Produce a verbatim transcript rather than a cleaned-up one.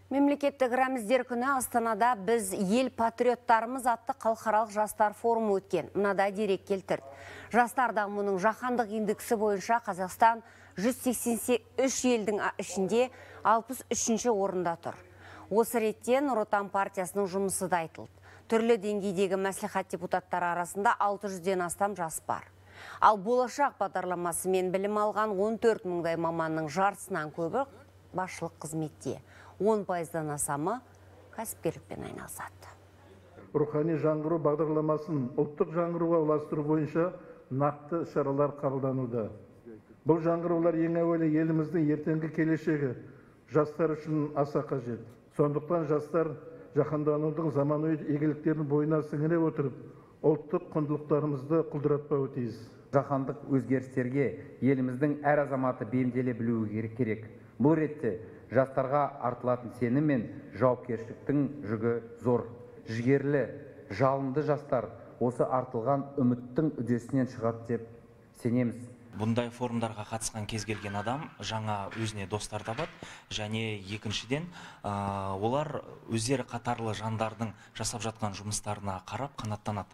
Мемлекеттік рәміздер күні Астанада біз ел патриоттарымыз атты халықаралық жастар форумы өткен. Мынада дерек келтірді. Жастар дамуының жаһандық индексі бойынша Қазақстан жүз сексен үш елдің ішінде алпыс үшінші орында тұр. Осы ретте Нұр Отан партиясының жұмысы да айтылды. Түрлі деңгейдегі мәслихат депутаттары арасында алты жүзден астам жас бар. Ал болашақ бағдарламасымен білім алған он төрт мыңдай маманның жартысынан көбі басшылық қызметте. он пайыздан асамы кәсіпкерлікпен айналысады. Рухани жаңғыру бағдарламасын ұлттық жаңғыруға ұластыру бойынша нақты шаралар қабылдануда. Бұл жаңғырулар ең әуелі еліміздің ертеңгі келешегі жастар үшін аса қажет. Сондықтан жастар жаһанданудың заманауи игіліктерін бойына сіңіре отырып, ұлттық құндылықтарымызды құлдыратпауы тиіс. Жаһандық өзгерістерге еліміздің әр азаматы бейімделе білуі керек. Бұл ретте жастарға артылатын сенім мен жауапкершіліктің жүгі зор. Жігерлі, жалынды жастар осы артылған үміттің үдесінен шығады деп сенеміз. Бұндай форумдарға қатысқан кез келген адам жаңа өзіне достар табады, және екіншіден олар өздері қатарлы жандардың жасап жатқан жұмыстарына қарап қанаттанады.